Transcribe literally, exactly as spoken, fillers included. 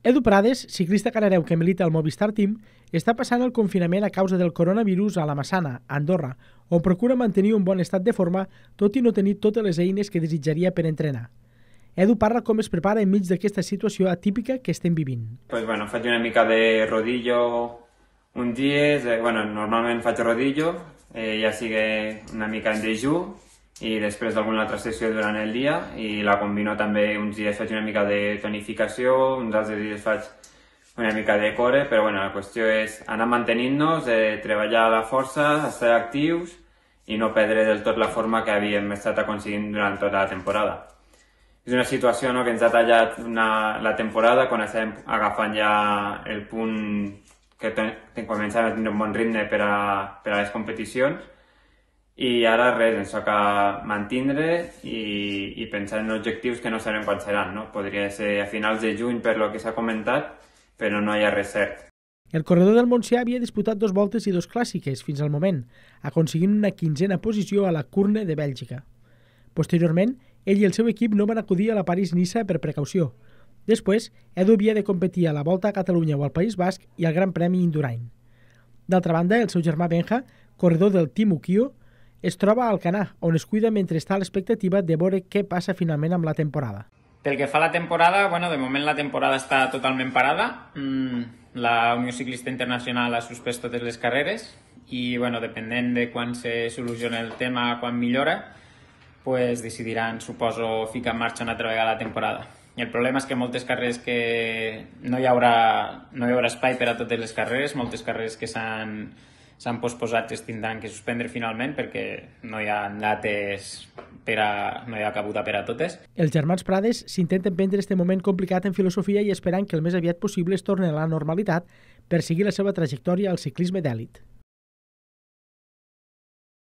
Edu Prades, ciclista canareu que milita al Movistar Team, està passant el confinament a causa del coronavirus a la Massana, a Andorra, on procura mantenir un bon estat de forma, tot i no tenir totes les eines que desitjaria per entrenar. Edu parla com es prepara enmig d'aquesta situació atípica que estem vivint. Pues bueno, faig una mica de rodillo uns dies, eh, bueno, normalment faig rodillo, eh, ja sigui una mica en dejú, i després d'alguna altra sessió durant el dia, i la combino també, uns dies faig una mica de tonificació, uns altres dies faig una mica de core, però bueno, la qüestió és anar mantenint-nos, eh, treballar a la força, estar actius i no perdre del tot la forma que havíem estat aconseguint durant tota la temporada. És una situació, no, que ens ha tallat una, la temporada quan estem agafant ja el punt que començàvem a tenir un bon ritme per a, per a les competicions, i ara res, ens toca mantindre i, i pensar en objectius que no sabem quan seran, no? Podria ser a finals de juny per lo que s'ha comentat, però no hi ha res cert. El corredor del Montsià havia disputat dos voltes i dos clàssiques fins al moment, aconseguint una quinzena posició a la Kurne de Bèlgica. Posteriorment, ell i el seu equip no van acudir a la París-Niça per precaució. Després, Edu havia de competir a la Volta a Catalunya o al País Basc i al Gran Premi Indurain. D'altra banda, el seu germà Benja, corredor del Team Ukio, es troba a Alcanar, on es cuida mentre està a l'expectativa de veure què passa finalment amb la temporada. Pel que fa a la temporada, bueno, de moment la temporada està totalment parada. Mm, la Unió Ciclista Internacional ha suspès totes les carreres i, bueno, depenent de quan se soluciona el tema, quan millora, pues decidiran, suposo, ficar en marxa una altra vegada la temporada. I el problema és que moltes carreres que no hi haurà, no hi haurà espai per a totes les carreres, moltes carreres que s'han s'han posposat es tindran que suspendre finalment perquè no hi ha dates per a, no hi ha cabuda per a totes. Els germans Prades s'intenten prendre este moment complicat en filosofia i esperant que el més aviat possible es torni a la normalitat per seguir la seva trajectòria al ciclisme d'èlit.